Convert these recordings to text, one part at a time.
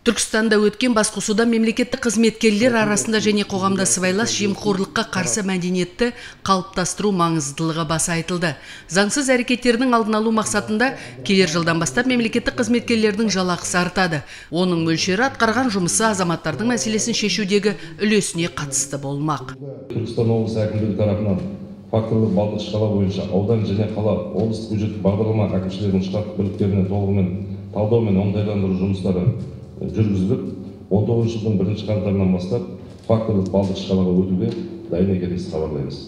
Түркістанда өткен басқосуда мемлекеттік қызметкерлер арасында және қоғамда сыбайлас жемқорлыққа қарсы мәдениетті қалыптастыру маңыздылығы баса айтылды. Заңсыз әрекеттердің алдын алу мақсатында келер жылдан бастап мемлекеттік қызметкерлердің жалақысы артады. Оның мөлшері атқарған жұмысы азаматтардың мәселесін шешудегі үлесіне қатысты болмақ. Түркістан облысы әкімдігі тарапынан факторлық балдық шкала бойынша аудан және қала облыстық бюджеттік бағдарлама әкімшілерінің штаттық бірліктеріне толығымен талдау мен оңтайландыру жұмыстары жүргізіліп, 19 жылдың 1 қаңтарынан бастап факторлық балдық шкалаға өтуге дайын екенімізді хабарлаймыз.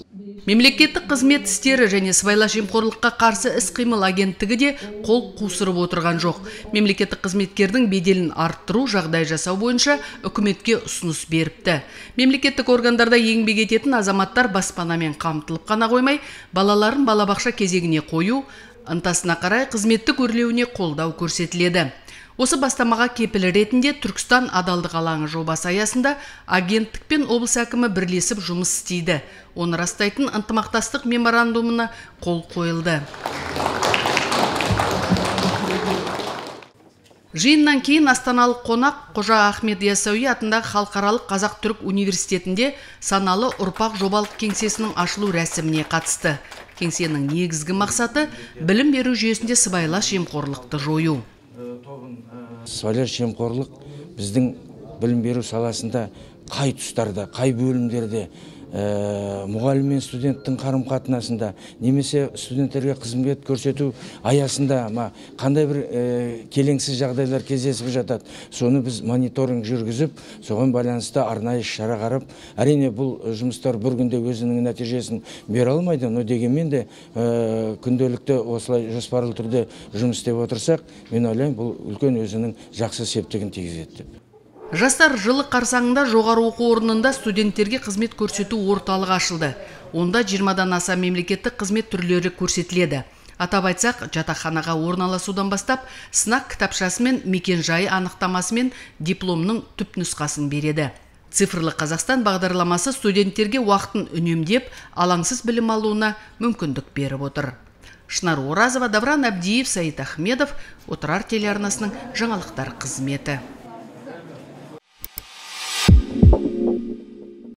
Мемлекеттік қызмет істері және сыбайлас жемқорлыққа қарсы іс-қимыл агенттігі де қол қусырып отырған жоқ. Мемлекеттік қызметкердің беделін арттыру, жағдай жасау бойынша үкіметке ұсыныс беріпті. Мемлекеттік органдарда еңбек ететін азаматтар баспанамен қамтылып қана қоймай, балаларын балабақша кезегіне қою, ынтасына қарай қызметтік өрлеуіне қолдау көрсетіледі. Осы бастамаға кепіл ретінде Түркістан адалдық алаңы жобасы аясында агенттік пен облыс әкімі бірлесіп жұмыс істейді. Оны растайтын ынтымақтастық меморандумына қол қойылды. Жиыннан кейін астаналық қонақ Қожа Ахмет Яссауи атындағы Халықаралық Қазақ-Түрік университетінде саналы ұрпақ жобалық кеңсесінің ашылу рәсіміне қатысты. Кеңсенің негізгі мақсаты білім беру жүйесінде сыбайлас жемқорлықты жою. Сыбайлас жемқорлық біздің білім беру саласында қай тұстарда, қай бөлімдерде, мұғалім мен студенттің қарым-қатынасында, немесе студенттерге қызмет көрсету аясында қандай бір келеңсіз жағдайлар кездесіп жатады. Соны біз мониторинг жүргізіп, соған байланысты арнайы шара қарап, әрине бұл жұмыстар бір күнде өзінің нәтижесін бере алмайды, но дегенмен де күнделікті осылай жоспарлы түрде жұмыс істеп отырсақ, мен ойлаймын, бұл үлкен өзінің жақсы септігін тигізеді деп. Жастар жылы қарсаңында жоғары оқу орнында студенттерге қызмет көрсету орталығы ашылды. Онда 20-дан аса мемлекеттік қызмет түрлері көрсетіледі. Атап айтсақ, жатақханаға орналасудан бастап, сынақ кітапшасы мен мекен-жайы анықтамасы мен дипломның түпнұсқасын береді. Цифрлы Қазақстан бағдарламасы студенттерге уақытын үнемдеп, алаңсыз білім алуына мүмкіндік беріп отыр. Шынар Оразова, Давран Абдиев, Саид Ахмедов, Отырар телеарнасының жаңалықтар қызметі.